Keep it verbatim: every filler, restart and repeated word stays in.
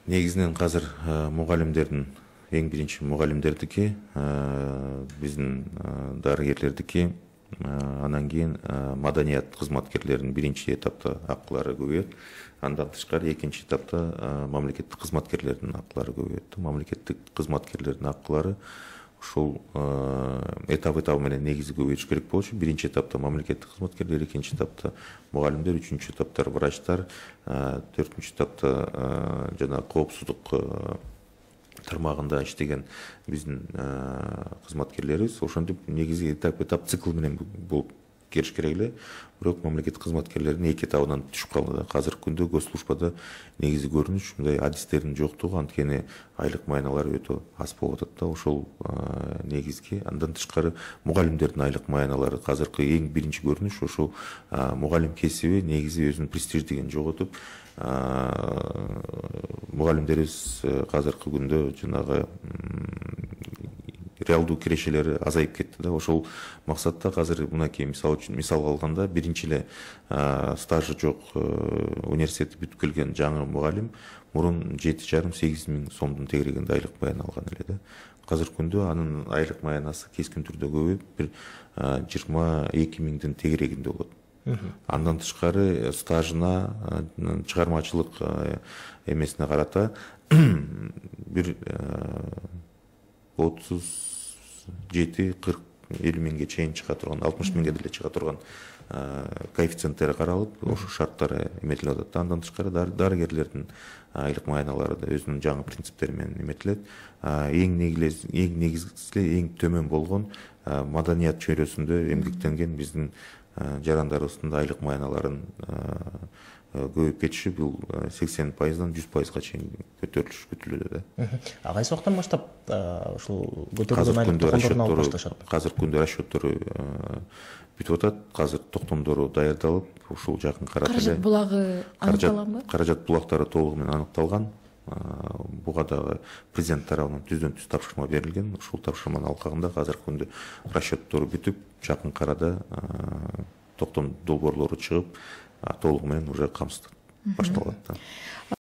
Негизинен азыр мугалимдердин эң биринчи мугалимдердики, биздин дарыгерлердики, анан кийин маданият кызматкерлеринин биринчи этапта акылары көбөйөт. Андан тышкары экинчи этапта мамлекеттик кызматкерлердин акылары көбөйөт. Мамлекеттик кызматкерлердин акылары ушул этап этабы менен негизи көбөйүш керек болчу. Биринчи этапта мамлекеттик кызматкерлер, экинчи этапта мугалимдер, үчүнчү этапта врачтар, төртүнчү этапта жана коопсуздук тармагында иштеген биздин кызматкерлерибиз. Ошентип негизи этап этап цикл менен болуп келиш керек эле. Бирок мамлекеттик кызматкерлердин эки этабынан түшүп калды. Азыркы күндө госслужбада негизи көрүнүш мындай адистердин жоктугу, анткени айлык маяналары өтө аз болуп атат да. Ошол негизги. Андан тышкары мугалимдердин айлык маяналары азыркы эң биринчи көрүнүш ошол мугалим кесиби негизи өзүнүн престиждигин жоготуп, мугалимдерибиз азыркы күндө жанагы реалдуу кирешелери азайып кетти да. Ошол максатта азыр мынакей мисал үчүн мисал алганда биринчи эле стажы жок университетти бүтүп келген жаңы мугалим мурун жети жарым сегиз миң сомдун тегерегинде айлык маяна алган эле да. Азыркы күндө анын айлык маянасы кескин түрдө көбөйүп бир жыйырма эки миңдин тегерегинде болот. Андан тышкары стажына, чыгармачылык эмесине карата бир отуз жети кырк элүү миңге чейин чыга турган, алтымыш миңге деле чыга турган коэффициенттери каралып, ошол шарттары эметилип атат. Андан тышкары дарыгерлердин айлык маяналары да өзүнүн жаңы принциптери менен эметилет. Эң негизи, эң негизгиси, эң төмөн болгон маданият чөйрөсүндө эмгектенген биздин жарандарыбыздын айлык маяналарын көбөйүп кетиши бул сексен пайыздан жүз пайызга чейин көтөрүлүш күтүлүүдө да. А кайсы убактан баштап ушул көтөрүлгөн айлык токтомдорун алып башташат? Азыркы күндө расчеттору бүтүп атат. Азыр токтомдору даярдалып, ушул жакын арада эле каражат булагы аныкталганбы? Каражат булактары толугу менен аныкталган. Буга дагы президент тарабынан түздөн түз тапшырма берилген. Ушул тапшырманын алкагында азыркы күндө расчеттору бүтүп, жакын арада токтом долбоорлору чыгып, толугу менен уже камсыз башталат да.